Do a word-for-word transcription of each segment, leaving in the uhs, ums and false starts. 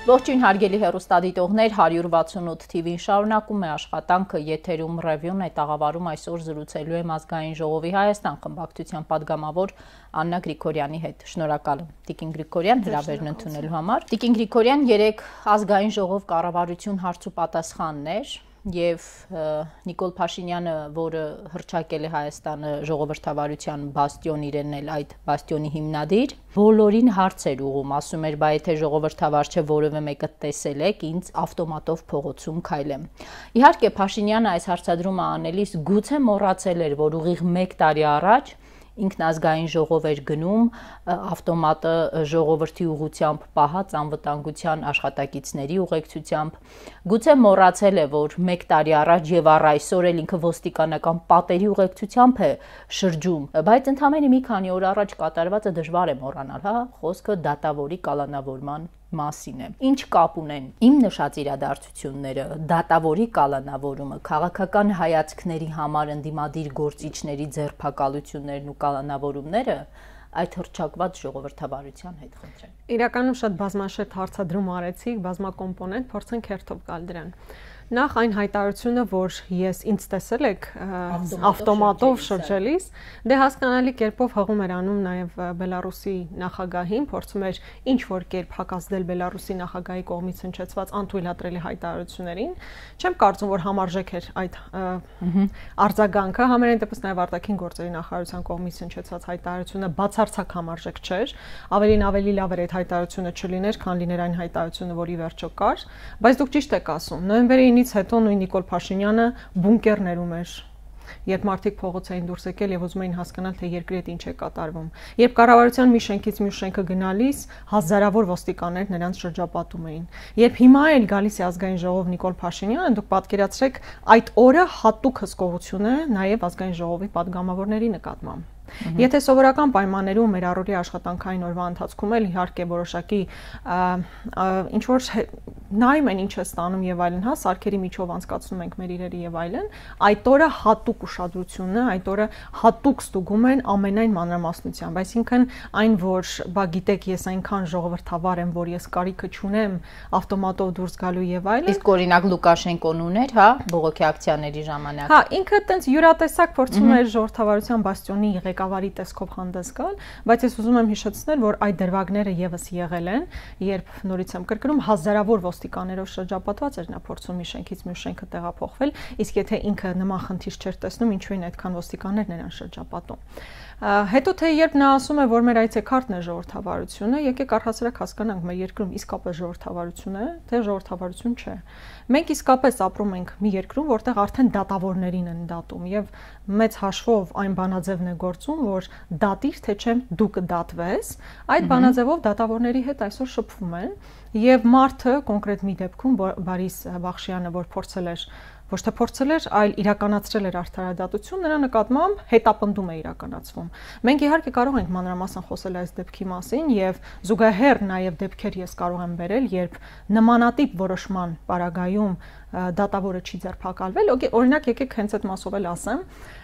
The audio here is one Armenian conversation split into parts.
Ողջույն հարգելի հեռուստադիտողներ, հարյուր վաթսունութ թիվին շարունակում է աշխատանքը, եթերում ռևյուն է, տաղավարում այսօր զրուցելու եմ ազգային ժողովի Հայաստան խմբակցության падգամավոր Աննա Գրիգորյանի հետ։ Շնորհակալ եմ Տիկին Գրիգորյան հրավերն ընդունելու համար։ Տիկին Գրիգորյան, երեկ ազգային ժողով կառավարություն հարց ու պատասխանն էր եւ Նիկոլ Փաշինյանը, որը հռչակել է Հայաստանը ժողովրդավարության բաստիոն, իրենն էլ այդ բաստիոնի հիմնադիր, բոլորին հարցեր ուղում, ասում էր, բա եթե ժողովրդավար չէ, որևէ մեկը տեսել եք, ինձ ավտոմատով փողոցում քայլեմ։ Իհարկե Փաշինյանը այս հարցադրումը անելիս գուցե մոռացել էր, որ ուղիղ մեկ տարի առաջ ինքնազգային ժողով էր գնում, ավտոմատը ժողովրդի ուղղությամբ պահած անվտանգության աշխատակիցների ուղեկցությամբ, գուցե մոռացել է, որ մեկ տարի առաջ եւ առ այսօր էլ ինքը ոստիկանական պատերի ուղեկցությամբ է շրջում, բայց ընդամենը մի քանի օր առաջ կատարվածը դժվար է մոռանալ, հա, խոսքը դատավորի կալանավորման մասին է։ Ինչ կապ ունեն իմ նշած իրադարձությունները, դատավորի կալանավորումը, քաղաքական հայացքների համար ընդդիմադիր գործիչների ձերբակալություններն ու կալանավորումները այդ հռչակված ժողովրդավարության հետ խնդրեն։ Իրականում շատ բազմաշերտ հարցադրում արեցիք, բազմակոմպոնենտ, փորձենք հերթով գալ դրան։ Նախ այն հայտարարությունը, որ ես ինձ տեսել եք ավտոմատով շրջելիս, դե հասկանալի կերպով հղում էր անում նաև Բելարուսի նախագահին, փորձում էր ինչ որ կերպ հակազդել Բելարուսի նախագահի կողմից հնչեցված անթույլատրելի հայտարարություններին։ Չեմ կարծում, որ համարժեք էր այդ արձագանքը, համենայն դեպս նաև արտաքին գործերի նախարարության կողմից հնչեցված հայտարարությունը բացարձակ համարժեք չէր, ավելին ավելի լավ էր այդ հայտարարությունը չլիներ, քան լիներ այն հայտարարությունը, որի վերջո կար, բայց դուք ճիշտ եք ասում, նոյեմբերի ինից հետո նույն Նիկոլ Փաշինյանը բունկերներում էր, երբ մարդիկ փողոց էին դուրս եկել եւ ուզում էին հասկանալ, թե երկրի հետ ինչ է կատարվում։ Երբ կառավարության մի շենքից մյուս շենքը գնալիս, հազարավոր ոստիկաններ նրանց շրջապատում էին։ Երբ հիմա էլ գալիս է ազգային ժողով Նիկոլ Փաշինյանը, դուք պատկերացրեք այդ օրը հատուկ հսկողություն է նաեւ ազգային ժողովի падգամավորների նկատմամբ։ Եթե սովորական պայմաններում մեր առօրյա աշխատանքային օրվա ընթացքում էլ իհարկե որոշակի ինչ որ նայում են ինչ է ստանում եւ այլն, հա, սարքերի միջով անցկացնում ենք մեր իրերի եւ այլն, այդ օրը հատուկ ուշադրությունն է, այդ օրը հատուկ ստուգում են ամենայն մանրամասնությամբ, այսինքն այն, որ բա գիտեք, ես այնքան ժողովրդավար եմ, որ ես կարիքը չունեմ ավտոմատով դուրս գալու եւ այլն։ Իսկ օրինակ Լուկաշենկոն ուներ, հա, բողոքի ակցիաների ժամանակ։ Հա, ինքը տենց յուրատեսակ փորձում էր ժողովրդավարության բաստիոնի ղեկավարի տեսքով հանդես գալ, բայց ես ուզում եմ հիշեցնել, որ այդ դրվագները եւս եղել են, երբ նորից եմ կրկնում, հազարավոր ոստիկաններով շրջապատված էր նա փորձում մի շենքից մյուս շենքը տեղափոխվել, իսկ եթե ինքը նման խնդիր չէր տեսնում, ինչու են այդքան ոստիկաններ նրան շրջապատում։ Հետո թե երբ նա ասում է, որ մեր այցեքարտն է ժողովրդավարությունը, եկեք առհասարակ հասկանանք, մեր երկրում իսկապես ժողովրդավարություն է, թե ժողովրդավարություն չէ։ Մենք իսկապես ապրում ենք մի երկրում, որտեղ արդեն դատավորներին են դատում եւ մեծ հաշվով այն բանաձևն է գործում, որ դատիր թե չէ դու կդատվես, այդ բանաձևով դատավորների հետ այսօր շփվում են եւ մարդը կոնկրետ մի դեպքում Բարիս Բախշյանը, որ փորձել էր ոչ թե փորձել էր, այլ իրականացրել էր արդարադատություն, նրա նկատմամբ հետապնդում է իրականացվում։ Մենք իհարկե կարող ենք մանրամասն խոսել այս դեպքի մասին եւ զուգահեռ նաեւ դեպքեր ես կարող եմ բերել, երբ նմանատիպ որոշման պարագայում դատավորը չի ձերբակալվել, օրինակ եկեք հենց այդ մասով էլ ասեմ,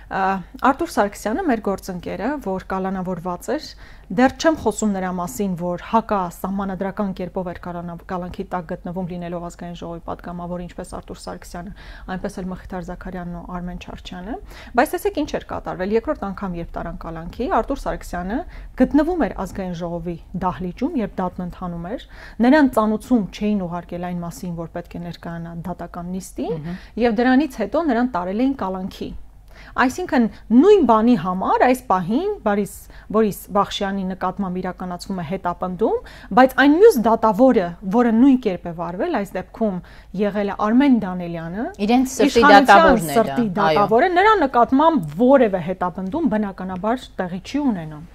Արտուր Սարգսյանը, մեր գործընկերը, որ կալանավորված էր, դեռ չեմ խոսում նրա մասին, որ հակա սահմանադրական կերպով էր կալանքի տակ գտնվում լինելով ազգային ժողովի падգամավոր, ինչպես Արտուր Սարգսյանը, այնպես էլ Մխիթար Զաքարյանն ու Արմեն Չարչյանը, բայց տեսեք ինչ էր կատարվել, երկրորդ անգամ երբ տարան կալանքի, Արտուր Սարգսյանը գտնվում էր ազգային ժողովի դահլիճում, երբ դատն ընթանում էր, նրան ծանուցում չէին ուղարկել այն մասին, որ պետք է ներկայանա դատական նիստին, եւ դրանից հետո նրան տարել էին կալանքի։ Այսինքն նույն բանի համար այս պահին Բարիս Բորիս Բախշյանի նկատմամբ իրականացվում է հետապնդում, բայց այն մյուս դատավորը, որը նույն կերպ է վարվել, այս դեպքում եղել է Արմեն Դանելյանը, իրենց սրտի դատավորն է, սրտի դատավորը, նրա նկատմամբ որևէ հետապնդում բնականաբար տեղի չի ունենում,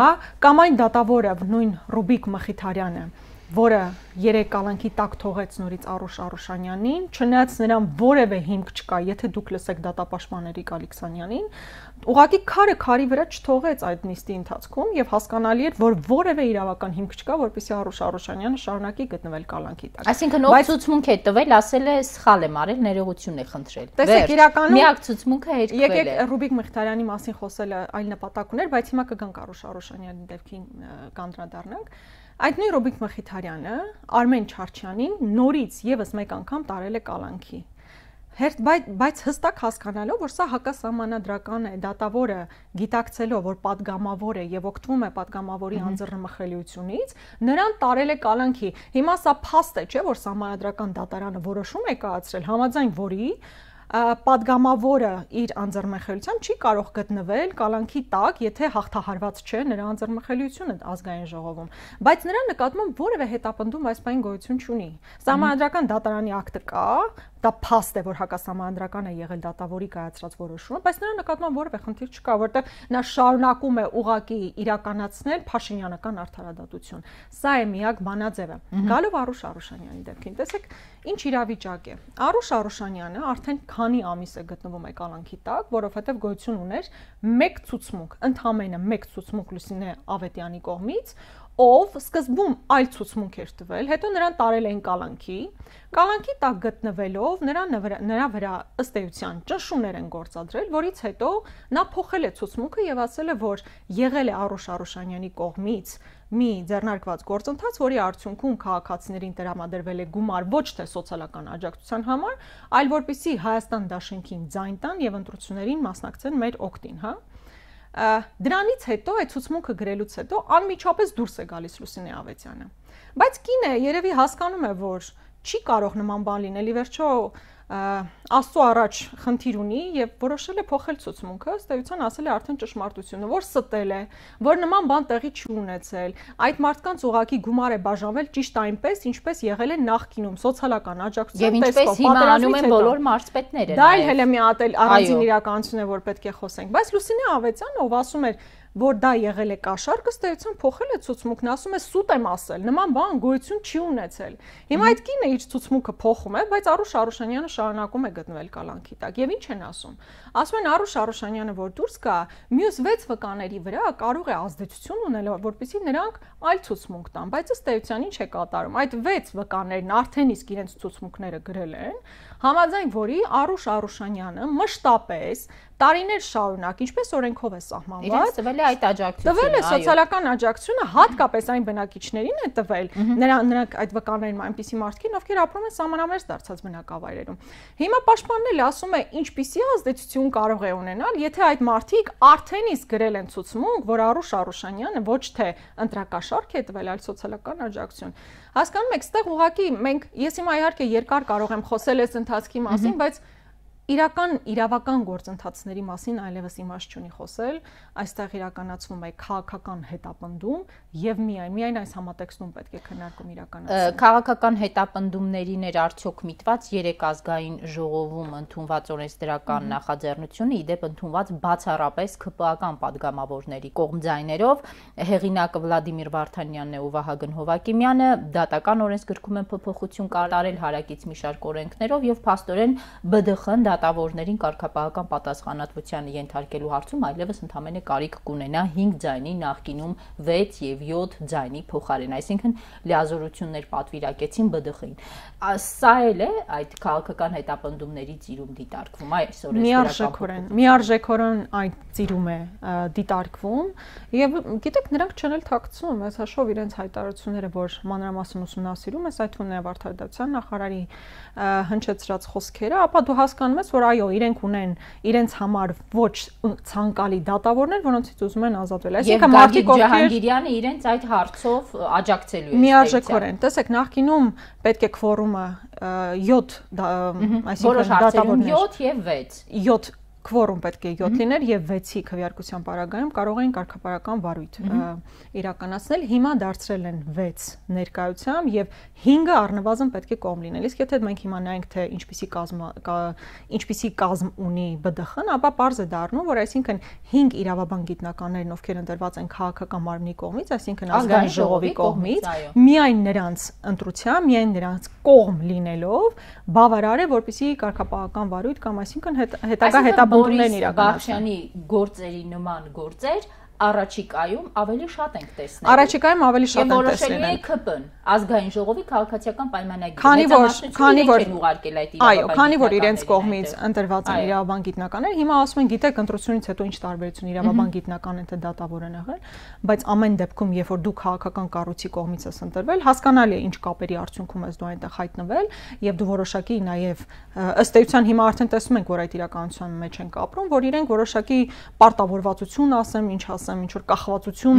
հա, կամ այն դատավորը, նույն Ռուբիկ Մխիթարյանը, որը երեք կալանքի տակ թողեց նորից Արուշ Արուշանյանին, չնայած նրան որևէ հիմք չկա, եթե դուք լսեք դատապաշտպան Էրիկ Ալեքսանյանին, ուղղակի քարը քարի վրա չթողեց այդ նիստի ընթացքում եւ հասկանալի էր, որ որևէ իրավական հիմք չկա, որպեսզի Արուշ Արուշանյանը շարունակի գտնվել կալանքի տակ։ Այսինքն ով ցուցմունք է տվել, ասել է սխալ եմ արել, ներողություն է խնդրել։ Տեսեք, իրականում միակ ցուցմունքը հետքվել է։ Եկեք Ռուբիկ Մխիթարյանի մասին խոսելը այլ նպատակ ուներ, բայց հիմա կգանք Արուշ Արուշանյանի դեպքին կանդրադառնանք։ Այդ նույն Ռոբիկ Մխիթարյանը Արմեն Չարչյանին նորից եւս մեկ անգամ տարել է կալանքի։ Հերթ բայց հստակ հասկանալով, որ սա հակասահմանադրական է, դատավորը գիտակցելով, որ падգամավոր է եւ օգտվում է падգամավորի անձեռնմխելիությունից, նրան տարել է կալանքի։ Հիմա սա փաստ է, չէ՞, որ սահմանադրական դատարանը որոշում է կայացրել, համաձայն որի падգամավորը իր անձեռնմխելիությամբ չի կարող գտնվել կալանքի տակ, եթե հաղթահարված չէ նրա անձեռնմխելիությունը ազգային ժողովում, բայց նրա նկատմամբ որևէ հետապնդում այս բանի գոյություն չունի։ Սահմանադրական դատարանի ակտը կա, դա փաստ է, որ հակասահմանադրական է եղել դատավորի կայացրած որոշումը, բայց նրա նկատմամբ որևէ խնդիր չկա, որտեղ նա շարունակում է ուղղակի իրականացնել փաշինյանական արդարադատություն։ Սա է միակ բանաձևը։ Գալով Արուշ Արուշանյանի դեպքին, տեսեք, ինչ իրավիճակ է։ Արուշ Արուշանյանը արդեն քանի ամիս է գտնվում է կալանքի տակ, որովհետև գոյություն ուներ մեկ ցուցմունք, ընդամենը մեկ ցուցմունք Լուսինե Ավետյանի կողմից, ով սկզբում այլ ցուցմունք էր տվել, հետո նրան տարել էին կալանքի, կալանքի տակ գտնվելով նրա նրա վրա ըստ էության ճնշումներ են գործադրել, որից հետո նա փոխել է ցուցմունքը եւ ասել է, որ եղել է Արուշ Արուշանյանի կողմից մի ձեռնարկված գործընթաց, որի արդյունքում քաղաքացիներին տրամադրվել է գումար ոչ թե սոցիալական աջակցության համար, այլ որպեսզի Հայաստան դաշինքին ձայն տան եւ ընտրություններին մասնակցեն մեր օգտին, հա։ Դրանից հետո այդ ցուցմունքը գրելուց հետո անմիջապես դուրս է գալիս Լուսինե Ավետյանը։ Բայց կինը երևի հասկանում է, որ չի կարող նման բան լինել, ի վերջո Աստծո առաջ խնդիր ունի եւ որոշել է փոխել ցուցմունքը, ըստ էության ասել է արդեն ճշմարտությունը, որ ստել է, որ նման բան տեղի չի ունեցել, այդ մարդկանց ուղակի գումար է բաժանվել ճիշտ այնպես, ինչպես եղել է նախկինում սոցիալական աջակցության տեսքով, պատերազմից հետո։ Եվ ինչպես հիմա անում են բոլոր մարզպետները։ Դա էլ հենց մի հատ առանձին իրականություն է, որ պետք է խոսենք, բայց Լուսինե Ավետյանը, ով ասում էր, որ դա եղել է կաշառք, ըստ էության փոխել է ցուցմունքն, ասում է սուտ եմ ասել, նման բան գոյություն չի ունեցել։ Հիմա այդ կինը իր ցուցմունքը փոխում է, բայց Արուշ Արուշանյանը շարունակում է գտնվել կալանքի տակ։ Եվ ինչ են ասում։ Ասում են Արուշ Արուշանյանը, որ դուրս գա, մյուս վեց վկաների վրա կարող է ազդեցություն ունել, որպեսզի նրանք այլ ցուցմունք տան, բայց ըստ էության ինչ է կատարում։ Այդ վեց վկաներն արդեն իսկ իրենց ցուցմունքները գրել են, համաձայն որի Արուշ Արուշանյանը մշտապես տարիներ շարունակ, ինչպես օրենքով է սահմանված, իրենց տվել է այդ աջակցությունը, տվել է սոցիալական աջակցությունը, հատկապես այն բնակիչներին է տվել, նրանք այդ վկաներն այնպիսի մարդիկ, ովքեր ապրում են սահմանամերձ դարձած բնակավայրերում։ Հիմա պաշտպանն էլ ասում է, ինչպիսի ազդեցություն կարող է ունենալ, եթե այդ մարդիկ արդեն իսկ գրել են ցուցմունք, որ Արուշ Արուշանյանը ոչ թե ընտրակաշառք է տվել, այլ սոցիալական աջակցություն։ Հասկանում եք, այստեղ ուղղակի մենք, ես հիմա իհարկե երկար կարող եմ խոսել այս ընթացքի մասին, բայց իրական իրավական գործընթացների մասին այլևս իմաստ չունի խոսել, այստեղ իրականացվում է քաղաքական հետապնդում եւ միայն միայն այս համատեքստում պետք է քննարկում իրականացնել։ Քաղաքական հետապնդումներին էր արդյոք միտված երեք ազգային ժողովում ընդունված օրենսդրական նախաձեռնությունը, իդեպ ընդունված բացառապես ՔՊԱ-ական падգամավորների կողմ ձայներով, հեղինակը Վլադիմիր Վարդանյանն է ու Վահագն Հովակիմյանը, դատական օրենսգրքում են փոփոխություն կատարել հարակից մի շարք օրենքներով եւ փաստորեն ԲԴԽ-ն դատավորներին կարգապահական պատասխանատվությանը ենթարկելու հարցում այլևս ընդամենը կարիք կունենա հինգ ձայնի նախկինում վեց եւ յոթ ձայնի փոխարեն, այսինքն լիազորություններ պատվիրակեցին ԲԴԽ-ին։ Սա էլ է այդ քաղաքական հետապնդումների ծիրում դիտարկվում այս օրենսդրական միարժեքորեն այդ ծիրում է դիտարկվում եւ գիտեք նրանք չեն էլ թաքցում, այս հաշվով իրենց հայտարարությունները, որ մանրամասն ուսումնասիրում ես այդ ունենա արդարադատության նախարարի հնչեցրած խոսքերը, ապա դու հասկանում ես, որ այո, իրենք ունեն իրենց համար ոչ ցանկալի դատավորներ, որոնցից ուզում են ազատվել։ Այսինքն Մարտիկ Ջահանգիրյանը իրենց այդ հարցով աջակցելու է։ Միարժեքորեն, տեսեք, նախկինում պետք է քվորումը յոթ, այսինքն դատավորներ յոթ եւ վեց։ յոթ քվորում պետք է յոթ լիներ եւ վեցի քվեարկության պարագայում կարող էին կարգապարական վարույթ իրականացնել, հիմա դարձրել են վեց ներկայությամբ եւ հինգը առնվազն պետք է կողմ լինել։ Իսկ եթե մենք հիմա նայենք թե ինչպիսի կազմ ինչպիսի կազմ ունի ԲԴԽ-ն, ապա պարզ է դառնում, որ այսինքն հինգ իրավաբան գիտնականներն, ովքեր ընտրված են քաղաքական մարմնի կողմից, այսինքն ազգային ժողովի կողմից, միայն նրանց ընտրությամբ, միայն նրանց կողմ լինելով բավարար է, որպեսզի կարգապահական վարույթ կամ այսինքն հետագա հետապնդումներն իրականացնեն։ Բախշյանի գործերի նման գործեր առաջիկայում ավելի շատ ենք տեսնել։ Առաջիկայում ավելի շատ ենք տեսնել։ Եվ որոշելու է K P-ն, ազգային ժողովի քաղաքացիական պայմանագիրը։ Քանի որ քանի որ ուղարկել այդ այո, քանի որ իրենց կողմից ընտրված են իրավաբան գիտնականներ, հիմա ասում են գիտեք ընտրությունից հետո ինչ տարբերություն իրավաբան գիտնական են թե դատավոր են եղել, բայց ամեն դեպքում երբ որ դու քաղաքական կառույցի կողմից ես ընտրվել, հասկանալի է ինչ կապերի արդյունքում ես դու այնտեղ հայտնվել եւ դու որոշակի նաեւ ըստ էության հիմա արդեն տեսնում ենք, որ այդ իրականության մեջ ենք ապրում, որ իրենք որոշակի պարտավորվածություն ասեմ, ինչ ասեմ, ինչ որ կախվածություն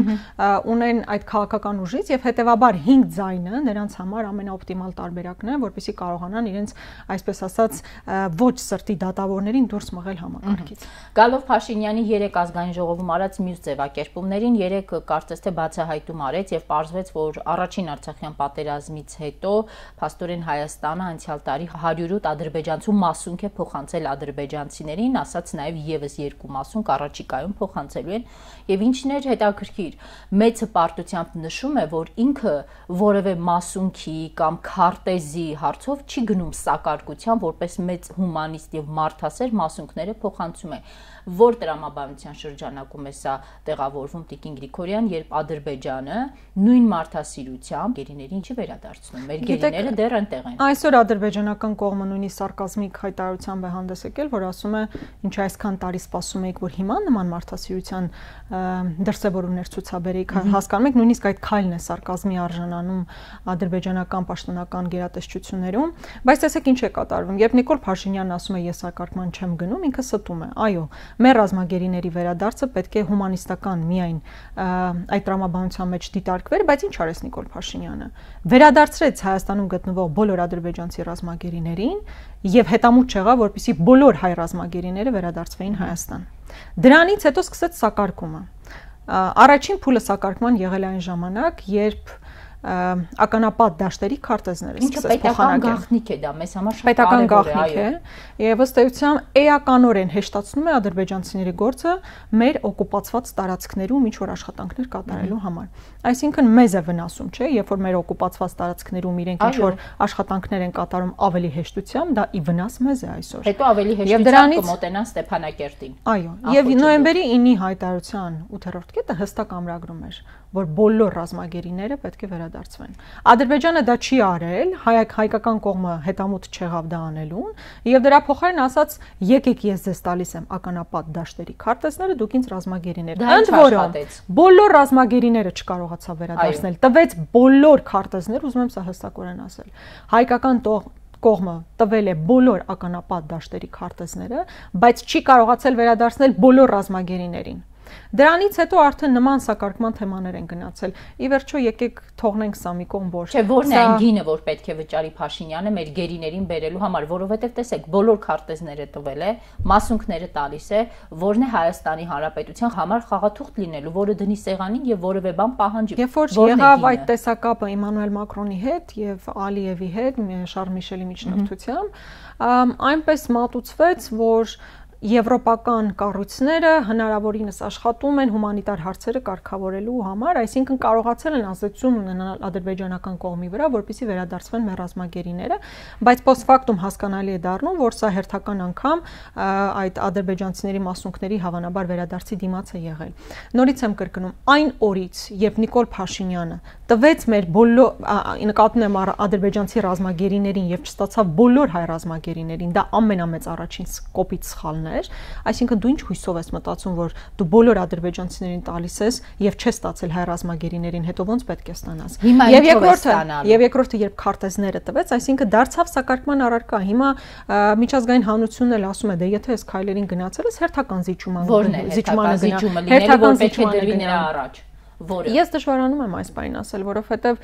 ունեն այդ քաղաքական ուժից եւ հետեւաբար հինգ ձայնը նրանց համար ամենաօպտիմալ տարբերակն է, որպեսզի կարողանան իրենց այսպես ասած ոչ սրտի դատավորներին դուրս մղել համակարգից։ Գալով Փաշինյանի երեք ազգային ժողովում արած մյուս ձևակերպումներին երեք կարծես թե բացահայտում արեց եւ պարզվեց, որ առաջին Արցախյան պատերազմից հետո փաստորեն Հայաստանը անցյալ տարի հարյուր ութ ադրբեջանցու մասունք է փոխանցել ադրբեջանցիներին, ասած նաեւ եւս երկու մասունք առաջիկայում փոխանցելու են եւ ինչն էր հետաքրքիր, մեծ հպարտությամբ նշում է, որ ինքը որևէ մասունքի կամ քարտեզի հարցով չի գնում սակարկության, որպես մեծ հումանիստ եւ մարդասեր մասունքները փոխանցում է։ Որ տրամաբանության շրջանակում է սա տեղավորվում Տիկին Գրիգորյան, երբ Ադրբեջանը նույն մարդասիրությամբ գերիներին չի վերադարձնում։ Մեր գերիները դեռ այնտեղ են։ Այսօր ադրբեջանական կողմը նույնիսկ սարկազմիկ հայտարարությամբ է հանդես եկել, որ ասում է, ինչ այսքան տարի սպասում եք, որ հիմա նման մարդասիրության դրսևորումներ ցուցաբերեիք, հասկանում եք, նույնիսկ այդ քայլն է սարկազմի արժանանում ադրբեջանական պաշտոնական գերատեսչություններում, բայց տեսեք ինչ է կատարվում։ Երբ Նիկոլ Փաշինյանն ասում է ես սակարկման չեմ գնում, ինքը ստում է։ Այո, մեր ռազմագերիների վերադարձը պետք է հումանիստական միայն այդ տրամաբանության մեջ դիտարկվեր, բայց ինչ արեց Նիկոլ Փաշինյանը։ Վերադարձրեց Հայաստանում գտնվող բոլոր ադրբեջանցի ռազմագերիներին եւ հետամուտ չեղավ, որպեսզի բոլոր հայ ռազմագերիները վերադարձվեին Հայաստան։ Դրանից հետո սկսեց սակարկումը։ Առաջին փուլը սակարկման եղել է այն ժամանակ, երբ ականապատ դաշտերի քարտեզները սկսեց փոխանակել։ Գաղտնիք է դա, մեզ համար շատ պետական գաղտնիք է, եւ ըստ էության էականորեն հեշտացնում է ադրբեջանցիների գործը մեր օկուպացված տարածքներում ինչ որ աշխատանքներ կատարելու համար։ Այսինքն մեզ է վնասում, չէ, երբ որ մեր օկուպացված տարածքներում իրենք ինչ որ աշխատանքներ են կատարում ավելի հեշտությամբ, դա ի վնաս մեզ է այսօր։ Հետո ավելի հեշտությամբ կմոտենան Ստեփանակերտին։ Այո, եւ նոյեմբերի ինի հայտարարության ութերորդ կետը հստակ ամրագրում էր, որ բոլոր ռազմագերիները պետք է վերադարձվեն։ Ադրբեջանը դա չի արել, հայկական կողմը հետամուտ չեղավ դա անելուն, եւ դրա փոխարեն ասաց՝ եկեք ես ձեզ տալիս եմ ականապատ դաշտերի քարտեզները, դուք ինձ ռազմագերիներ։ Ընդ որում բոլոր ռազմագերիները չկարողացավ վերադարձնել, տվեց բոլոր քարտեզներ, ուզում եմ սա հստակորեն ասել։ Հայկական կողմը տվել է բոլոր ականապատ դաշտերի քարտեզները, բայց չի կարողացել վերադարձնել բոլոր ռազմագերիներին։ Դրանից հետո արդեն նման սակարկման թեմաներ են գնացել։ Ի վերջո եկեք թողնենք սա մի կողմ, որ չէ, որն է այն գինը, որ պետք է վճարի Փաշինյանը մեր գերիներին բերելու համար, որովհետև տեսեք, բոլոր քարտեզները տվել է, մասունքները տալիս է, որն է Հայաստանի Հանրապետության համար խաղաթուղթ լինելու, որը դնի սեղանին եւ որևէ բան պահանջի։ Երբ որ եղավ այդ տեսակապը Էմանուել Մակրոնի հետ եւ Ալիևի հետ, Շարլ Միշելի միջնորդությամբ, այնպես մատուցվեց, որ եվրոպական կառույցները հնարավորինս աշխատում են հումանիտար հարցերը կարգավորելու համար, այսինքն կարողացել են ազդեցություն ունենալ ադրբեջանական կողմի վրա, որպեսզի վերադարձվեն մեր ռազմագերիները, բայց post-factum հասկանալի է դառնում, որ սա հերթական անգամ այդ ադրբեջանցիների մասունքների հավանաբար վերադարձի դիմաց է եղել։ Նորից եմ կրկնում, այն օրից, երբ Նիկոլ Փաշինյանը տվեց մեր բոլոր, նկատում եմ ադրբեջանցի ռազմագերիներին եւ չստացավ բոլոր հայ ռազմագերիներին, դա ամենամեծ առաջին կոպիտ սխալն է։ Այսինքն դու ինչ հույսով ես մտածում, որ դու բոլոր ադրբեջանցիներին տալիս ես եւ չես ստացել հայ ռազմագերիներին, հետո ոնց պետք է ստանաս։ Եվ երկրորդը, եւ երկրորդը երբ քարտեզները տվեց, այսինքն դարձավ սակարկման առարկա։ Հիմա միջազգային հանրությունն էլ ասում է, դե եթե այս քայլերին գնացել ես, հերթական զիջում զիջումանը գնա, հերթական պետք է դրվի նրա առաջ։ Որը ես դժվարանում եմ այս բանին ասել, որովհետեւ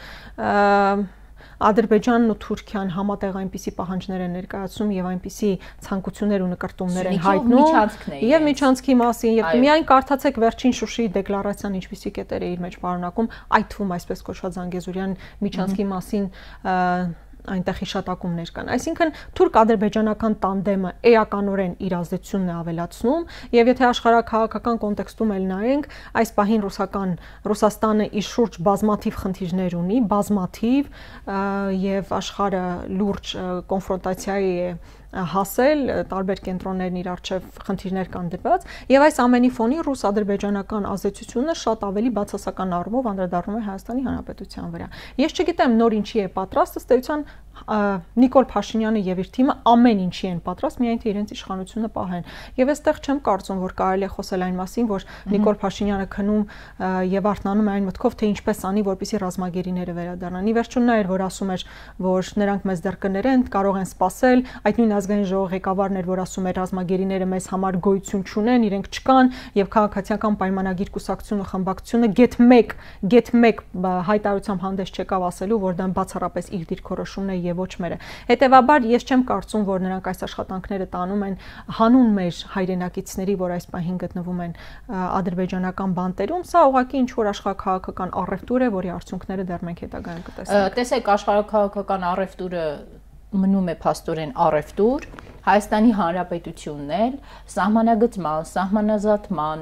Ադրբեջանն ու Թուրքիան համատեղ այնպիսի պահանջներ են ներկայացնում եւ այնպիսի ցանկություններ ու նկարտումներ են հայտնում եւ միջանցքի մասին եւ միայն կարդացեք վերջին Շուշիի դեկլարացիան ինչպիսի կետեր է իր մեջ պարունակում, այդ թվում այսպես կոչված Զանգեզուրյան միջանցքի մասին այնտեղ հիշատակումներ կան։ Այսինքն թուրք-ադրբեջանական տանդեմը էականորեն իր ազդեցությունն է ավելացնում եւ եթե աշխարհակաղակական կոնտեքստում էլ նայենք, այս պահին ռուսական Ռուսաստանը իր շուրջ բազմաթիվ խնդիրներ ունի, բազմաթիվ եւ աշխարհը լուրջ կոնֆրոնտացիայի է հասել, տարբեր կենտրոններն իր առջև խնդիրներ կան դրված, եւ այս ամենի ֆոնին ռուս-ադրբեջանական ազդեցությունը շատ ավելի բացասական առումով անդրադառնում է Հայաստանի Հանրապետության վրա։ Ես չգիտեմ նոր ինչի է պատրաստ, ըստ էության Նիկոլ Փաշինյանը եւ իր թիմը ամեն ինչի են պատրաստ, միայն թե իրենց իշխանությունը պահեն։ Եվ այստեղ չեմ կարծում, որ կարելի է խոսել այն մասին, որ Նիկոլ Փաշինյանը քնում եւ արթնանում է այն մտքով, թե ինչպես անի, որպեսզի ռազմագերիները վերադառնան։ Ի վերջո նա էր, որ ասում էր, որ նրանք մեզ դեռ կներեն, կարող են սпасել, այդ նույն ազգային ժողովի ղեկավարն էր, որ ասում էր ռազմագերիները մեզ համար գոյություն չունեն, իրենք չկան եւ քաղաքացիական պայմանագիր կուսակցությունը խմբակցությունը գեթ մեկ, գեթ մեկ հայտարարությամբ հանդես չեկավ ասելու, որ դա բացառապես իր դիրքորոշումն է եւ ոչ մերը։ Հետևաբար ես չեմ կարծում, որ նրանք այս աշխատանքները տանում են հանուն մեր հայրենակիցների, որ այս պահին գտնվում են ադրբեջանական բանտերում, սա ուղղակի ինչ որ աշխարհաքաղաքական առևտուր է, որի արդյունքները դեռ մենք հետագայում կտեսնենք։ Տեսեք, աշխարհաքաղաքական առևտուրը մնում է փաստորեն առևտուր, Հայաստանի Հանրապետությունն էլ սահմանագծման, սահմանազատման,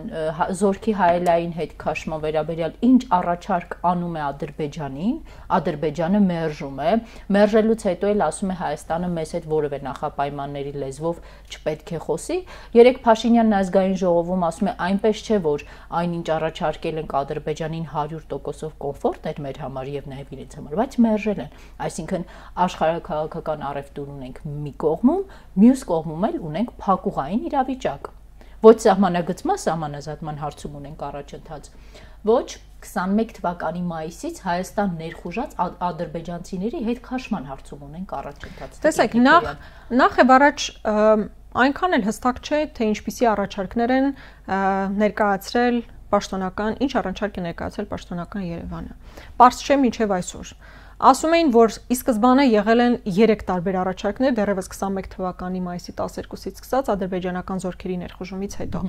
զորքի հայելային հետ քաշման վերաբերյալ ինչ առաջարկ անում է Ադրբեջանին, Ադրբեջանը մերժում է, մերժելուց հետո էլ ասում է Հայաստանը մեզ հետ որևէ նախապայմանների լեզվով չպետք է խոսի։ Երեք Փաշինյանն ազգային ժողովում ասում է այնպես չէ, որ այնինչ առաջարկել ենք Ադրբեջանին հարյուր տոկոսով կոմֆորտ էր մեր համար եւ նաեւ իրենց համար, բայց մերժել են։ Այսինքն աշխարհաքաղաքական առևտուր ունենք մի կողմում, մյուս կողմում էլ ունենք փակուղային իրավիճակ։ Ոչ սահմանագծման, սահմանազատման հարցում ունենք առաջընթաց, ոչ քսանմեկ թվականի մայիսից Հայաստան ներխուժած ադրբեջանցիների հետ քաշման հարցում ունենք առաջընթաց։ Տեսեք, նախ նախ եւ առաջ այնքան էլ հստակ չէ, թե ինչպիսի առաջարկներ են ներկայացրել պաշտոնական, ինչ առաջարկ է ներկայացրել պաշտոնական Երևանը։ Պարզ չէ մինչև այսօր։ Ասում էին, որ ի սկզբանե եղել են երեք տարբեր առաջարկներ, դեռևս քսանմեկ թվականի մայիսի տասներկուսից սկսած ադրբեջանական զորքերի ներխուժումից հետո։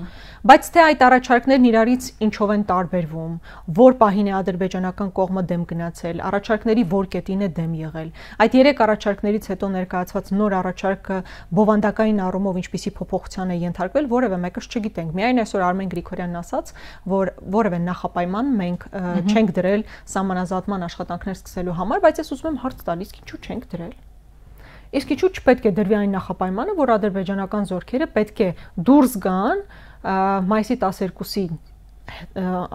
Բայց թե այդ առաջարկներն իրարից ինչով են տարբերվում, որ պահին է ադրբեջանական կողմը դեմ գնացել, առաջարկների որ կետին է դեմ եղել։ Այդ երեք առաջարկներից հետո ներկայացված նոր առաջարկը բովանդակային առումով ինչպիսի փոփոխության է ենթարկվել, որևէ մեկը չգիտենք։ Միայն այսօր Արմեն Գրիգորյանն ասաց, որ որևէ նախապայման մենք չենք դրել սահմանազատման աշխատանքներ սկսելու համար, բայց ես ուզում եմ հարց տալ, իսկ ինչու չենք դրել։ Իսկ ինչու չպետք է դրվի այն նախապայմանը, որ ադրբեջանական զորքերը պետք է դուրս գան մայիսի տասներկուսի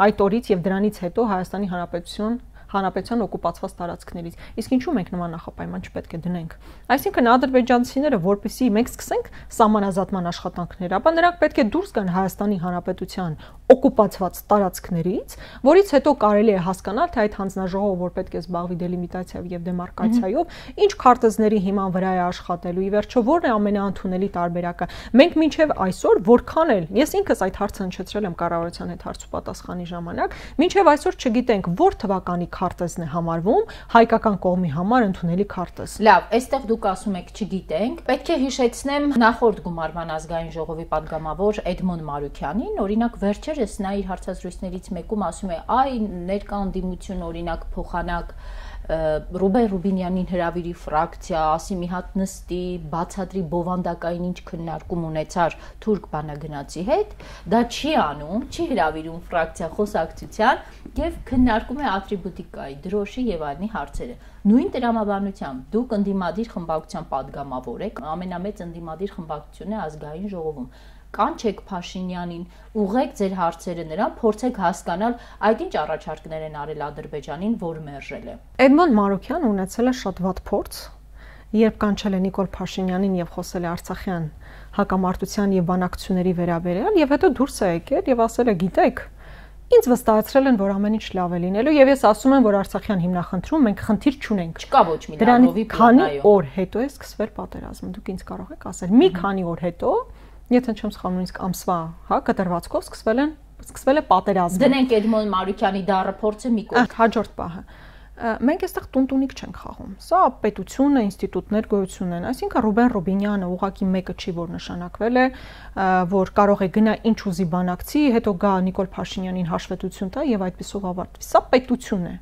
այդ օրից եւ դրանից հետո Հայաստանի Հանրապետություն Հանրապետության օկուպացված տարածքներից։ Իսկ ինչու մենք նման նախապայման չպետք է դնենք։ Այսինքն ադրբեջանցիները, որպեսզի մենք սկսենք սահմանազատման աշխատանքներ, ապա նրանք պետք է դուրս գան Հայաստանի Հանրապետության օկուպացված տարածքներից, որից հետո կարելի է հասկանալ, թե այդ հանձնաժողովը, որ պետք է զբաղվի դելիմիտացիայով եւ դեմարկացիայով, ինչ քարտեզների հիման վրա է աշխատելու, ի վերջո որն է ամենաընդունելի տարբերակը։ Մենք մինչեւ այսօր որքան էլ ես ինքս այդ հարցը հնչեցրել եմ կառավարության հետ հարց ու պատասխանի ժամանակ, մինչեւ այսօր չգիտենք որ թվականի քարտեզն է համարվում հայկական կողմի համար ընդունելի քարտեզ։ Լավ, այստեղ դուք ասում եք չգիտենք։ Պետք է հիշեցնեմ նախորդ գումարման ազգային ժողովի падգամավոր Էդմոն Մարուքյանին, օրինակ վերջերս նա իր հարցազրույցներից մեկում ասում է, այ ներկա ընդդիմություն օրինակ փոխանակ Ռուբեն Ռուբինյանին հրավիրի ֆրակցիա, ասի մի հատ նստի, բացատրի բովանդակային ինչ քննարկում ունեցար թուրք բանագնացի հետ, դա չի անում, չի հրավիրում ֆրակցիա խոսակցության եւ քննարկում է ատրիբուտիկայի, դրոշի եւ այլնի հարցերը։ Նույն տրամաբանությամբ դուք ընդդիմադիր խմբակցության падգամավոր եք, ամենամեծ ընդդիմադիր խմբակցությունն է ազգային ժողովում։ Կանչեք Փաշինյանին, ուղղեք ձեր հարցերը նրան, փորձեք հասկանալ այդ ինչ առաջարկներ են արել Ադրբեջանին, որ մերժել է։ Էդմոն Մարուքյանը ունեցել է շատ վատ փորձ, երբ կանչել է Նիկոլ Փաշինյանին եւ խոսել է Արցախյան հակամարտության եւ բանակցությունների վերաբերյալ, եւ հետո դուրս է եկել եւ ասել է, գիտեք, ինձ վստահեցրել են, որ ամեն ինչ լավ է լինելու, եւ ես ասում եմ, որ Արցախյան հիմնախնդրում մենք խնդիր չունենք։ Չկա ոչ մի լավովի քանի օր հետո է սկսվել պատերազմը, դուք ինձ կարող եք ասել, մի քանի օր հետո Եթե չեմ սխալվում, իսկ ամսվա, հա, կտրվածքով սկսվել են, սկսվել է պատերազմը։ Դնենք Էդմոն Մարուքյանի դառը փորձը մի կողմ։ Հաջորդ պահը։ Մենք այստեղ տունտունիկ չենք խաղում։ Սա պետություն է, ինստիտուտներ գոյություն են։ Այսինքն Ռուբեն Ռուբինյանը ուղղակի մեկը չի, որ նշանակվել է, որ կարող է գնա ինչ ուզի բանակցի, հետո գա Նիկոլ Փաշինյանին հաշվետվություն տա եւ այդպեսով ավարտվի։ Սա պետություն է։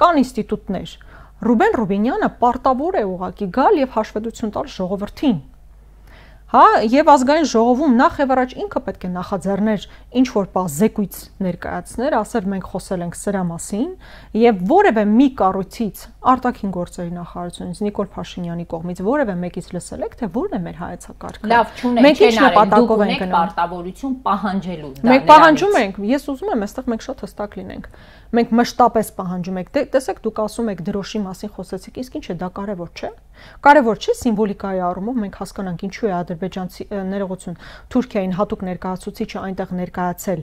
Կան ինստիտուտներ։ Ռուբեն Ռուբինյանը պարտավոր է ուղղակի գալ եւ հաշվետվություն տալ ժողովրդին։ Հա, եւ ազգային ժողովում նախ եւ առաջ ինքը պետք է նախաձեռներ ինչ որ բա զեկույց ներկայացներ, ասել մենք խոսել ենք սրա մասին եւ որևէ մի կառույցից արտաքին գործերի նախարարությունից Նիկոլ Փաշինյանի կողմից որևէ մեկից լսել եք, թե որն է մեր հայեցակարգը։ Լավ, չունենք, չեն արել, դուք ունեք պարտավորություն պահանջելու դա։ Մենք պահանջում ենք, ես ուզում եմ, այստեղ մենք շատ հստակ լինենք։ Մենք մշտապես պահանջում ենք, տեսեք, դուք ասում եք դրոշի մասին խոսեցիք, իսկ ինչ է դա կարևոր չէ։ Կարևոր չէ սիմվոլիկայի առումով մենք հասկանանք ինչու է ադրբեջանցի ներողություն Թուրքիային հատուկ ներկայացուցիչը այնտեղ ներկայացել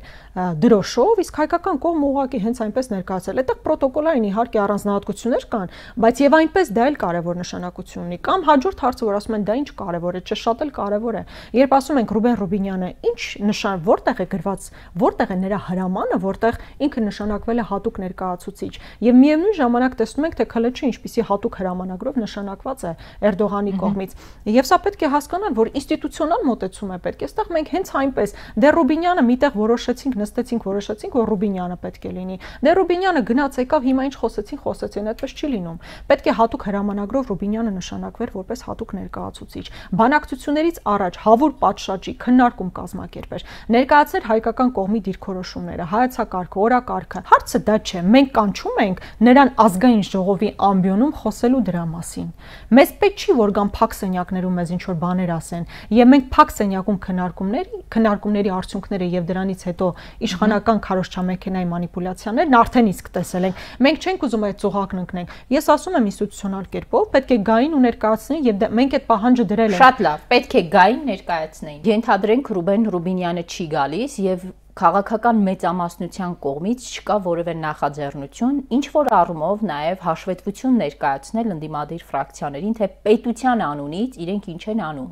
դրոշով, իսկ հայկական կողմը ուղղակի հենց այնպես ներկայացել։ Այդտեղ պրոտոկոլային իհարկե առանձնահատկություններ կան, բայց եւ այնպես դա էլ կարևոր նշանակություն ունի։ Կամ հաջորդ հարցը, որ ասում են դա ինչ կարևոր է, չէ, շատ էլ կարևոր է։ Երբ ասում ենք Ռուբեն Ռուբինյանը, ինչ նշան, որտեղ է գրված, որտեղ է նրա հրամանը, որտեղ ինքը նշանակվել է հատուկ ներկայացուցիչ։ Եվ միևնույն ժամանակ տեսնում ենք, թե քլեչը ինչպիսի հատուկ հրամանագրով նշանակված է Էրդողանի կողմից։ Եվ սա պետք է հասկանալ, որ ինստիտուցիոնալ մոտեցում է պետք։ Այստեղ մենք հենց այնպես դե Ռուբինյանը միտեղ որոշեցինք, նստեցինք, որոշեցինք, որ Ռուբինյանը պետք է լինի։ Դե Ռուբինյանը գնաց եկավ, հիմա ինչ խոսեցին, խոսեցին, այդպես չի լինում։ Պետք է հատուկ հրամանագրով Ռուբինյանը նշանակվեր որպես հատուկ ներկայացուցիչ։ Բանակցություններից առաջ հավուր պատշաճի քննարկում կազմակերպեր, ներկայացներ հայկական կողմի դիրքորոշումները, հայեցակարգը, օրակարգը։ Հարցը դա չէ, մենք կանչում ենք նրան ազգային ժողովի ամբիոնում խոսելու դրա մասին։ Մեզ պետք չի որ գան փակ սենյակներում մեզ ինչ որ բաներ ասեն, եւ մենք փակ սենյակում քննարկումների, քննարկումների արդյունքները եւ դրանից հետո իշխանական քարոզչամեքենայի մանիպուլյացիաներն արդեն իսկ տեսել ենք։ Մենք չենք ուզում այդ ծուղակն ընկնենք։ Ես ասում եմ ինստիտուցիոնալ կերպով պետք է գային ու ներկայացնեն եւ մենք այդ պահանջը դրել ենք։ Շատ լավ, պետք է գային ներկայացնեն։ Ենթադրենք Ռուբեն Ռուբինյանը չի գալիս եւ քաղաքական մեծամասնության կողմից չկա որևէ նախաձեռնություն, ինչ որ առումով նաև հաշվետվություն ներկայացնել ընդդիմադիր ֆրակցիաներին, թե պետության անունից իրենք ինչ են անում։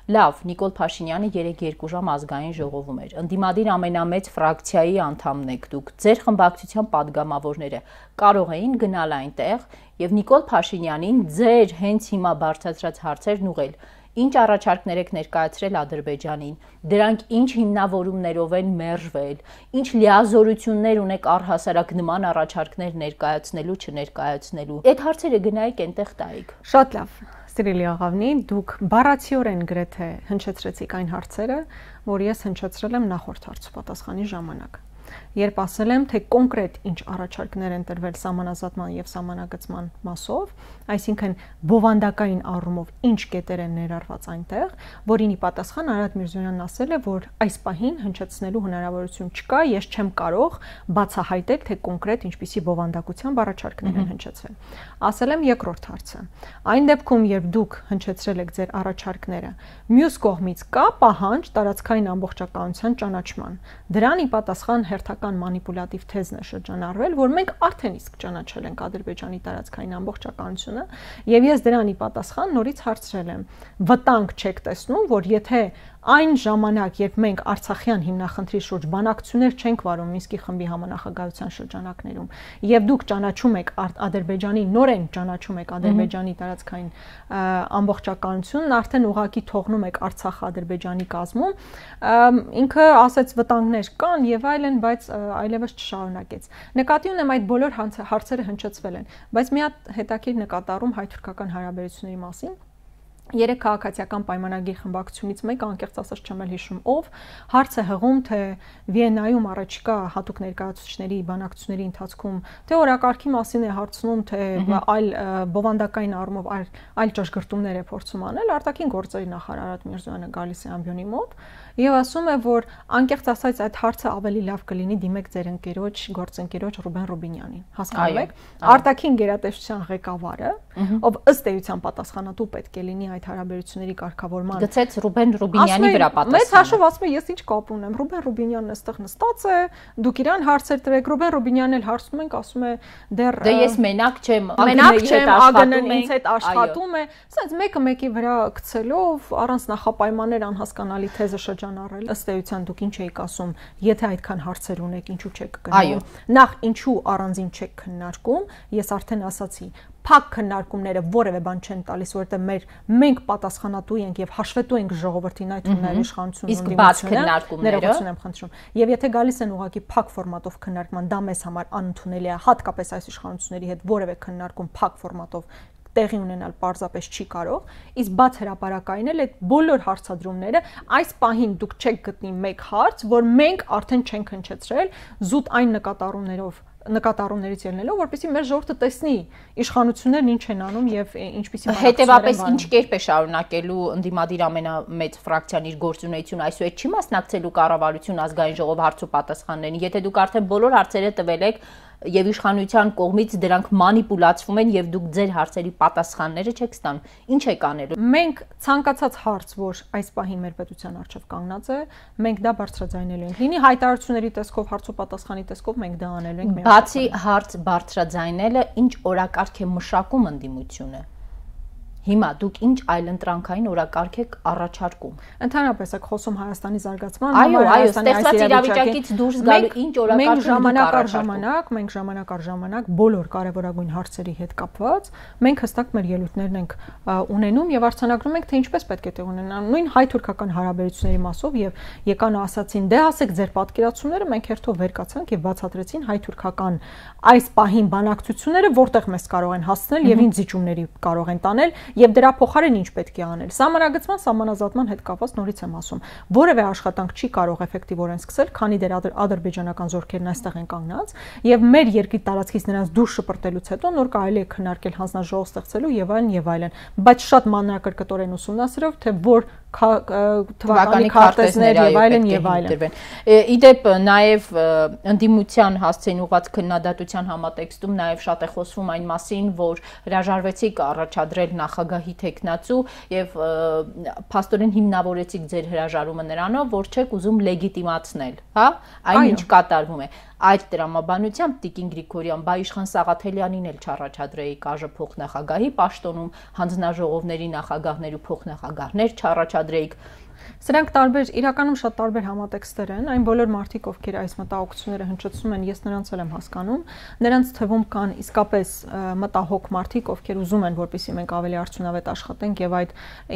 Լավ, Նիկոլ Փաշինյանը երեկ երկու ժամ ազգային ժողովում էր։ Ընդդիմադիր ամենամեծ ֆրակցիայի անդամն եք դուք, ձեր խմբակցության падգամավորները կարող էին գնալ այնտեղ եւ Նիկոլ Փաշինյանին ձեր հենց հիմա բարձրացրած հարցերն ուղղել։ Ինչ առաջարկներ եք ներկայացրել Ադրբեջանին, դրանք ինչ հիմնավորումներով են մերժվել, ինչ լիազորություններ ունեք առհասարակ նման առաջարկներ ներկայացնելու, չներկայացնելու։ Այդ հարցերը գնայիք այնտեղ տայիք։ Շատ լավ, Սիրելի աղավնի, դուք բառացիորեն գրեթե հնչեցրեցիք այն հարցերը, որ ես հնչեցրել եմ նախորդ հարցու պատասխանի ժամանակ։ Երբ ասել եմ, թե կոնկրետ ինչ առաջարկներ են տրվել սահմանազատման եւ սահմանագծման մասով, այսինքն բովանդակային առումով ինչ կետեր են ներառված այնտեղ, որին ի պատասխան Արադ Միրզոյանն ասել է, որ այս պահին հնչեցնելու հնարավորություն չկա, ես չեմ կարող բացահայտել, թե կոնկրետ ինչպիսի բովանդակության առաջարկներ են հնչեցվել։ Ասել եմ երկրորդ հարցը։ Այն դեպքում, երբ դուք հնչեցրել եք ձեր առաջարկները, մյուս կողմից կա պահանջ տարածքային ամբողջականության ճանաչման։ Դրան ի պատասխան հերթական մանիպուլատիվ թեզն է շրջանառվել, որ մենք արդեն իսկ ճանաչել ենք Ադրբեջանի տարածքային ամբողջականությունը, եւ ես դրան ի պատասխան նորից հարցրել եմ. վտանգ չեք տեսնում, որ եթե այն ժամանակ, երբ մենք Արցախյան հիմնախնդրի շուրջ բանակցություններ չենք վարում Մինսկի խմբի համանախագահության շրջանակներում, եւ դուք ճանաչում եք Ադրբեջանի նորեն ճանաչում եք Ադրբեջանի տարածքային ամբողջականությունն, արդեն ուղղակի թողնում եք Արցախը Ադրբեջանի կազմում, ինքը ասեց վտանգներ կան եւ այլն, բայց այլևս չշարունակեց։ Նկատի ունեմ այդ բոլոր հարցերը հնչեցվել են, բայց մի հատ հետաքրքիր նկատառում հայ-թուրքական հարաբերությունների մասին Երեք քաղաքացիական պայմանագիր խմբակցությունից մեկը, անկեղծ ասած չեմ էլ հիշում ով, հարց է հղում, թե Վիեննայում առաջիկա հատուկ ներկայացուցիչների բանակցությունների ընթացքում թե օրակարգի մասին է հարցնում, թե այլ բովանդակային առումով այլ այլ ճշգրտումներ է փորձում անել, արտաքին գործերի նախարար Արադ Միրզոյանը գալիս է ամբիոնի մոտ եւ ասում է, որ անկեղծ ասած այդ հարցը ավելի լավ կլինի դիմեք ձեր ընկերոջ, գործընկերոջ Ռուբեն Ռուբինյանին։ Հասկանում եք, արտաքին գերատեսչության ղեկավարը, ով ըստ էության պատասխանատու պետք է լինի այդ հարաբերությունների կարգավորման։ Գցեց Ռուբեն Ռուբինյանի վրա պատասխանը։ Մեծ հաշվով ասում է, ես ինչ կապ ունեմ, Ռուբեն Ռուբինյանն այստեղ նստած է, դուք իրան հարցեր տվեք, Ռուբեն Ռուբինյանն էլ հարցնում ենք, ասում է դեռ դե ես մենակ չեմ, մենակ չեմ, ԱԳՆ-ն ինձ հետ աշխատում է, ասենց մեկը մեկի վրա գցելով առանց նախապայմաններ անհասկանալի թեզը շրջանառել։ Ըստ էության դուք ինչ եք ասում, եթե այդքան հարցեր ունեք, ինչու չեք գնում։ Նախ ինչու առանձին չեք քննարկում, ես արդեն ասացի, փակ քննարկումները որևէ բան չեն տալիս, որովհետեւ մեր մենք պատասխանատու ենք եւ հաշվետու ենք ժողովրդին այդ ունենալի իշխանությունն իսկ բաց քննարկումները ներողություն եմ խնդրում եւ եթե գալիս են ուղղակի փակ ֆորմատով քննարկման, դա մեզ համար անընդունելի է, հատկապես այս իշխանությունների հետ որևէ քննարկում փակ ֆորմատով տեղի ունենալ պարզապես չի կարող, իսկ բաց հրապարակային էլ այդ բոլոր հարցադրումները այս պահին դուք չեք գտնի մեկ հարց, որ մենք արդեն չենք հնչեցրել զուտ այն նկատառումներով նկատառումներից ելնելով, որպեսզի մեր ժողովուրդը տեսնի իշխանություններն ինչ են անում եւ ինչպիսի հետեւաբար ինչ կերպ է շարունակելու ընդդիմադիր ամենամեծ ֆրակցիան իր գործունեությունը, այսուհետ չի մասնակցելու կառավարություն ազգային ժողով հարց ու պատասխաններին, եթե դուք արդեն բոլոր հարցերը տվել եք եւ իշխանության կողմից դրանք մանիպուլացվում են եւ դուք ձեր հարցերի պատասխանները չեք ստանում, ինչ եք անելու։ Մենք ցանկացած հարց, որ այս պահի մեր պետության առջև կանգնած է, մենք դա բարձրաձայնելու ենք։ Լինի հայտարարությունների տեսքով, հարց ու պատասխանի տեսքով մենք դա անելու ենք։ Բացի հարց բարձրաձայնելը, ինչ օրակարգ է մշակում ընդդիմությունը։ Հիմա դուք ինչ այլընտրանքային օրակարգ եք առաջարկում։ Ընդհանրապես եք խոսում Հայաստանի զարգացման, այո, այո, ստեղծված իրավիճակից դուրս գալու ինչ օրակարգ ժամանակ առ ժամանակ, մենք ժամանակ առ ժամանակ բոլոր կարևորագույն հարցերի հետ կապված, մենք հստակ մեր ելույթներն ենք ունենում եւ արձանագրում ենք, թե ինչպես պետք է տեղ ունենան նույն հայ-թուրքական հարաբերությունների մասով եւ եկան ասացին, դե ասեք ձեր պատկերացումները, մենք հերթով վեր կացանք եւ բացատրեցին հայ-թուրքական այս պահին բանակցությունները որտեղ մեզ կարող են հասցնել եւ ինչ զիջումների կարող են տանել եւ դրա փոխարեն ինչ պետք է անել։ Սահմանագծման, սահմանազատման հետ կապված նորից եմ ասում, որևէ աշխատանք չի կարող էֆեկտիվորեն սկսել, քանի դեռ ադրբեջանական զորքերն այստեղ են կանգնած եւ մեր երկրի տարածքից նրանց դուրս շպրտելուց հետո նոր կարելի է քննարկել հանձնաժողով ստեղծելու եւ այլն եւ այլն, բայց շատ մանրակրկտորեն ուսումնասիրելով, թե որ թվականի քարտեզներ եւ այլն եւ այլն։ Իդեպ նաեւ ընդդիմության հասցեին ուղղված քննադատության համատեքստում նաեւ շատ է խոսվում այն մասին, որ հրաժարվեցիք առաջադրել նախագահի թեկնածու եւ փաստորեն հիմնավորեցիք ձեր հրաժարումը նրանով, որ չեք ուզում լեգիտիմացնել, հա, այն ինչ կատարվում է։ Այդ տրամաբանությամբ Տիկին Գրիգորյան բա Իշխան Սաղաթելյանին էլ չառաջադրեի ԿԱԺ փոխնախագահի պաշտոնում, հանձնաժողովների նախագահներ ու փոխնախագահներ չառաջադրեիք։ Սրանք տարբեր, իրականում շատ տարբեր համատեքստեր են, այն բոլոր մարդիկ, ովքեր այս մտահոգությունները հնչեցնում են, ես նրանց էլ եմ հասկանում, նրանց թվում կան իսկապես մտահոգ մարդիկ, ովքեր ուզում են, որպեսզի մենք ավելի արդյունավետ աշխատենք եւ այդ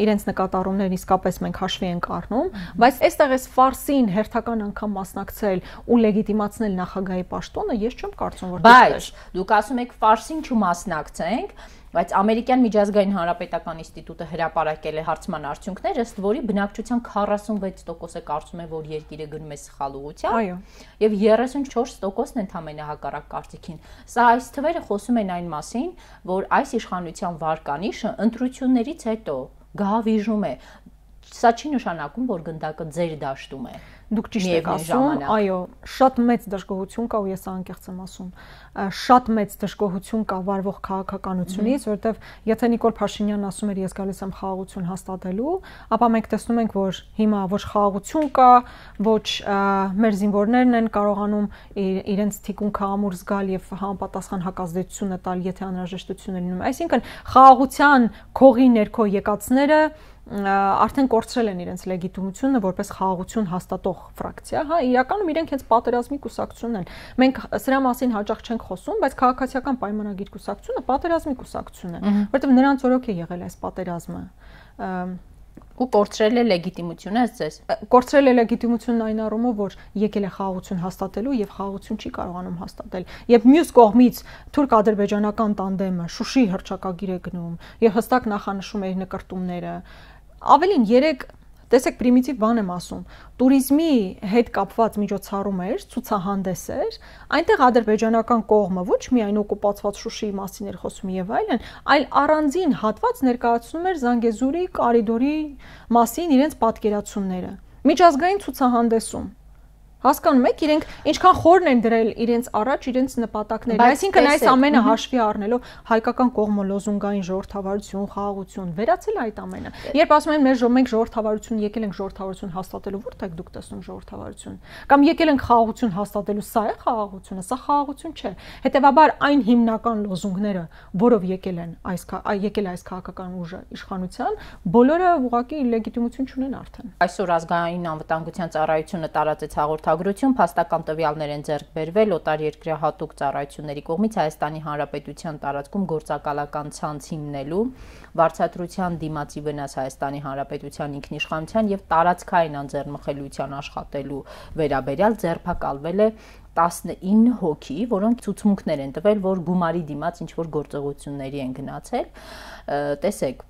իրենց նկատառումներն իսկապես մենք հաշվի ենք առնում, բայց այստեղ էս ֆարսին հերթական անգամ մասնակցել ու լեգիտիմացնել նախագահի պաշտոնը, ես չեմ կարծում, որ բայց դուք ասում եք ֆարսին չմասնակցենք, բայց ամերիկյան միջազգային հանրապետական ինստիտուտը հրապարակել է հարցման արդյունքներ, ըստ որի բնակչության քառասունվեց տոկոսը կարծում է, որ երկիրը գնում է սխալ ուղղությամբ, եւ երեսունչորս տոկոսն ընդհանրապես հակառակ կարծիքին։ Սա այս թվերը խոսում են այն մասին, որ այս իշխանության վարկանիշը ընտրություններից հետո գահավիժում է։ Սա չի նշանակում, որ գնդակը ձեր դաշտում է։ Դուք ճիշտ եք ասում, այո, շատ մեծ դժգոհություն կա ու ես անկեղծ եմ ասում, շատ մեծ դժգոհություն կա վարվող քաղաքականությունից, որովհետև եթե Նիկոլ Փաշինյանն ասում էր ես գալիս եմ խաղաղություն հաստատելու, ապա մենք տեսնում ենք, որ հիմա ոչ խաղաղություն կա, ոչ մեր զինվորներն են կարողանում իրենց թիկունքը ամուր զգալ եւ համապատասխան հակազդեցությունը տալ, եթե անհրաժեշտություն է լինում։ Այսինքն խաղաղության քողի ներքո եկածները արդեն կորցրել են իրենց լեգիտիմությունը որպես խաղաղություն հաստատող ֆրակցիա, հա, իրականում իրենք հենց պատերազմի կուսակցությունն են։ Մենք սրա մասին հաճախ չենք խոսում, բայց քաղաքացիական պայմանագիր կուսակցությունը պատերազմի կուսակցություն է, որովհետև նրանց օրոք է եղել այս պատերազմը։ Ու կորցրել է լեգիտիմությունը, ըստ ձեզ։ Կորցրել է լեգիտիմությունն այն առումով, որ եկել է խաղաղություն հաստատելու եւ խաղաղություն չի կարողանում հաստատել։ Եվ մյուս կողմից թուրք-ադրբեջանական տանդեմը Շուշի հռչակագիր է գնում եւ հստակ նախանշում է իր նկարտումները։ Ավելին երեք տեսեք պրիմիտիվ բան եմ ասում, տուրիզմի հետ կապված միջոցառում էր, ցուցահանդես էր, այնտեղ ադրբեջանական կողմը ոչ միայն օկուպացված Շուշիի մասին էր խոսում եւ այլն, այլ առանձին հատված ներկայացնում էր Զանգեզուրի կորիդորի մասին իրենց պատկերացումները։ Միջազգային ցուցահանդեսում Հասկանում եք, իրենք ինչքան խորն են դրել իրենց առաջ իրենց նպատակները։ Այսինքն այս ամենը հաշվի առնելով հայկական կողմը լոզունգային ժողովրդավարություն, խաղաղություն, վերացել այդ ամենը։ Երբ ասում են մեր մենք ժողովրդավարություն եկել ենք ժողովրդավարություն հաստատելու, որտեղ եք դուք տեսնում ժողովրդավարություն։ Կամ եկել ենք խաղաղություն հաստատելու, սա է խաղաղությունը, սա խաղաղություն չէ։ Հետևաբար այն հիմնական լոզունգները, որով եկել են այս եկել այս քաղաքական ուժը իշխանության, բոլորը ուղղակի լեգիտիմություն չունեն արդեն։ Այսօր ազգային անվտանգության ծառայությունը տարածեց հաղորդ խորհրդագրություն, փաստական տվյալներ են ձեռք բերվել օտարերկրյա հատուկ ծառայությունների կողմից Հայաստանի Հանրապետության տարածքում գործակալական ցանց հիմնելու, վարձատրության դիմացի վնաս Հայաստանի Հանրապետության ինքնիշխանության եւ տարածքային անձեռնմխելիության աշխատելու վերաբերյալ ձերբակալվել է տասնինը հոգի, որոնք ցուցմունքներ են տվել, որ գումարի դիմաց ինչ որ գործողությունների են գնացել։ Տեսեք,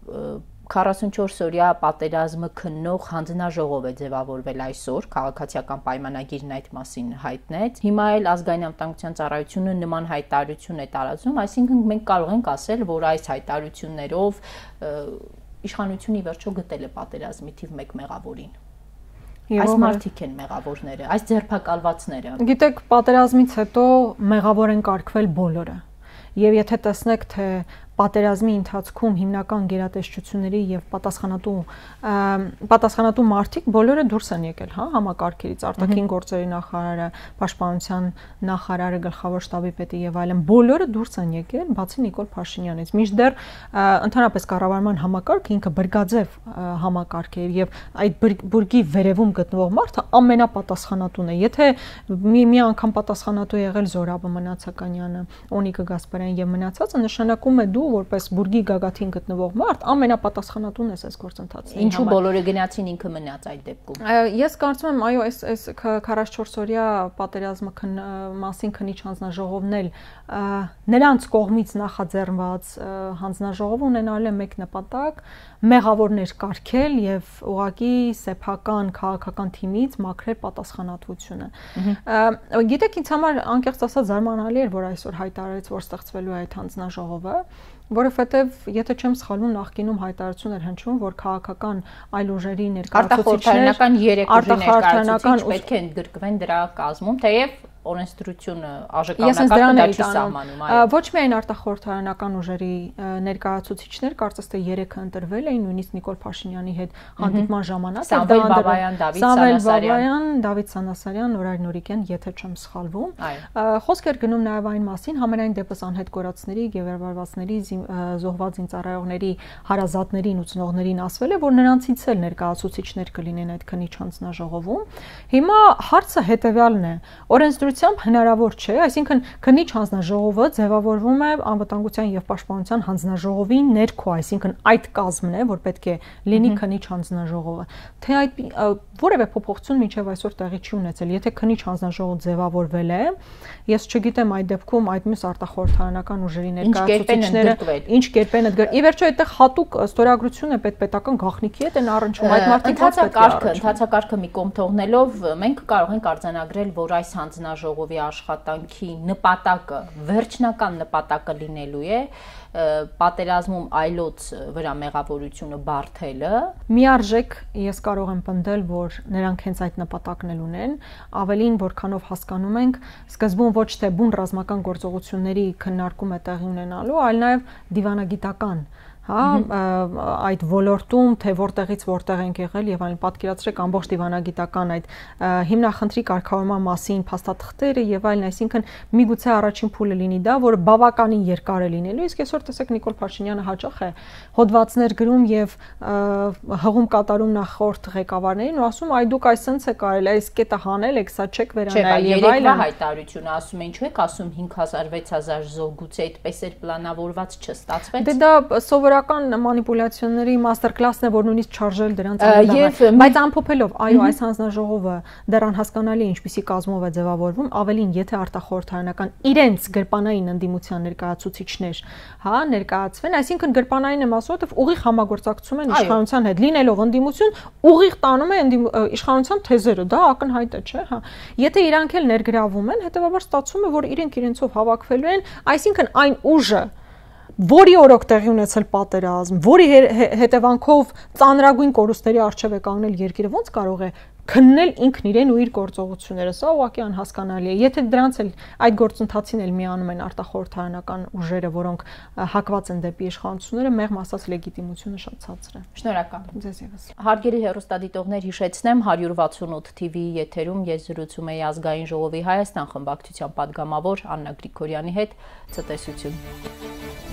քառասունչորս օրյա պատերազմը քննող հանձնաժողով է ձևավորվել այսօր, քաղաքացիական պայմանագիրն այդ մասին հայտնեց։ Հիմա էլ ազգային անվտանգության ծառայությունը նման հայտարարություն է տարածում, այսինքն մենք կարող ենք ասել, որ այս հայտարարություններով իշխանությունը ի վերջո գտել է պատերազմի թիվ մեկ մեղավորին։ Այս մարդիկ են մեղավորները, այս ձերբակալվածները։ Գիտեք, պատերազմից հետո մեղավոր են կարգվել բոլորը։ Եվ եթե տեսնեք, թե պատերազմի ընթացքում հիմնական գերատեսչությունների եւ պատասխանատու պատասխանատու մարդիկ բոլորը դուրս են եկել, հա, համակարգերից, արտաքին գործերի նախարարը, պաշտպանության նախարարը, գլխավոր շտաբի պետը եւ այլն, բոլորը դուրս են եկել, բացի Նիկոլ Փաշինյանից։ Մինչդեռ ընդհանրապես կառավարման համակարգը ինքը բրգաձև համակարգ է եւ այդ բուրգի վերևում գտնվող մարդը ամենապատասխանատուն է։ Եթե մի մի անգամ պատասխանատու եղել Զորաբը Մնացականյանը, Օնիկը Գասպարյան եւ մնացածը, նշանակում է դու որպես բուրգի գագաթին գտնվող մարդ ամենապատասխանատուն ես այս գործընթացի։ Ինչու բոլորը գնացին, ինքը մնաց այդ դեպքում։ Ես կարծում եմ, այո, այս այս քառասունչորս օրյա պատերազմը մասին քննիչ հանձնաժողովն էլ նրանց կողմից նախաձեռնված հանձնաժողով ունենալ է մեկ նպատակ՝ մեղավորներ կարգել եւ ուղղակի սեփական քաղաքական թիմից մաքրել պատասխանատվությունը։ Գիտեք, ինձ համար անկեղծ ասած զարմանալի էր, որ այսօր հայտարարեց, որ ստեղծվելու է այդ հանձնաժողովը, որովհետև եթե չեմ սխալվում, նախկինում հայտարարություն էր հնչում, որ քաղաքական այլ ուժերի ներկայացուցիչներ, արտախորհրդարանական երեք ուժի ներկայացուցիչ պետք է ընդգրկվեն դրա կազմում, թեև օրենսդրությունը աժկանակարգը դա չի սահմանում, այո։ Ոչ միայն արտախորհրդարանական ուժերի ներկայացուցիչներ, կարծես թե երեքը ընտրվել էին, նույնիսկ Նիկոլ Փաշինյանի հետ հանդիպման ժամանակ, Սամվել Բաբայան, Դավիթ Սանասարյան, Դավիթ Սանասարյան, Նորայր Նորիկյան, եթե չեմ սխալվում։ Խոսք էր գնում նաև այն մասին, համենայն դեպս անհետ կորածների, գերվարվածների, զոհված զինծառայողների հարազատներին ու ծնողներին ասվել է, որ նրանցից էլ ներկայացուցիչներ կլինեն այդ քննիչ հանձնաժողովում։ Հիմա հարցը հետևյալն է. օրենսդրությամբ հնարավոր չէ, այսինքն քննիչ հանձնաժողովը ձևավորվում է անվտանգության եւ պաշտպանության հանձնաժողովի ներքո, այսինքն այդ կազմն է, որ պետք է լինի քննիչ հանձնաժողովը։ Թե այդ որևէ փոփոխություն մինչև այսօր տեղի չի ունեցել, եթե քննիչ հանձնաժողով ձևավորվել է, ես չգիտեմ այդ դեպքում այդ մյուս արտախորհրդարանական ուժերի ներկայացուցիչները ինչ կերպ են ընդգրկվել։ Ի վերջո այդտեղ հատուկ ստորագրություն է պետպետական գաղտնիքի հետ են առնչվում այդ մարդիկ ընթացակարգը, ընթացակարգը մի կողմ թողնելով մենք կարող ենք արձանագրել, որ այս հանձնաժողովի աշխատանքի նպատակը, վերջնական նպատակը լինելու է պատերազմում այլոց վրա մեղավորությունը բարթելը։ Միարժեք ես կարող եմ պնդել, որ նրանք հենց այդ նպատակն էլ ունեն, ավելին որքանով հասկանում ենք, սկզբում ոչ թե բուն ռազմական գործողությունների քննարկում է տեղի ունենալու, այլ նաև դիվանագիտական, հա, այդ ոլորտում, թե որտեղից որտեղ ենք եղել եւ այլն, պատկերացրեք ամբողջ դիվանագիտական այդ հիմնախնդրի կարգավորման մասին փաստաթղթերը եւ այլն, այսինքն միգուցե առաջին փուլը լինի դա, որ բավականին երկար է լինելու, իսկ այսօր տեսեք Նիկոլ Փաշինյանը հաճախ է հոդվածներ գրում եւ հղում կատարում նախորդ ղեկավարներին ու ասում, այ դուք այսպես է կարել, այս կետը հանել եք, սա չեք վերանայել եւ այլն։ Հայտարարությունը ասում են, ինչու եք ասում հինգ հազար վեց հազար զոհ, գուցե այդպես էր պլանավորված, չստացվեց։ Դե դա սովորական մանիպուլյացիաների մաստեր կլասն է, որ նույնիսկ չարժել դրանց անդրադառնալ, բայց ամփոփելով, այո, այս հանձնաժողովը դեռ անհասկանալի է ինչպիսի կազմով է ձևավորվում, ավելին եթե արտախորհրդարանական իրենց գրպանային ընդդիմության ներկայացուցիչներ, հա, ներկայացվեն, այսինքն գրպանային եմ ասում, որ ուղիղ համագործակցում են իշխանության հետ, լինելով ընդդիմություն, ուղիղ տանում է իշխանության թեզերը, դա ակնհայտ է, չէ՞, հա։ Եթե իրանք էլ ներգրավում են, հետեւաբար ստացվում է, որ իրենք իրենցով հավաքվելու են, այսինքն այն ուժը, որի օրոք տեղի ունեցել պատերազմ, որի հետևանքով ծանրագույն կորուստների առջև է կանգնել երկիրը, ոնց կարող է քննել ինքն իրեն ու իր գործողությունները, սա ուղղակի անհասկանալի է։ Եթե դրանց էլ այդ գործընթացին էլ միանում են արտախորհրդարանական ուժերը, որոնք հակված են դեպի իշխանությունները, մեղմ ասած լեգիտիմությունը շատ ցածր է։ Շնորհակալ։ Ձեզ ևս։ Հարգելի հեռուստադիտողներ, հիշեցնեմ հարյուր վաթսունութ թիվի եթերում ես զրուցում էի Ազգային ժողովի Հայաստան խմբակցության պատգամավոր Աննա Գրիգորյանի հետ։ Ցտեսություն։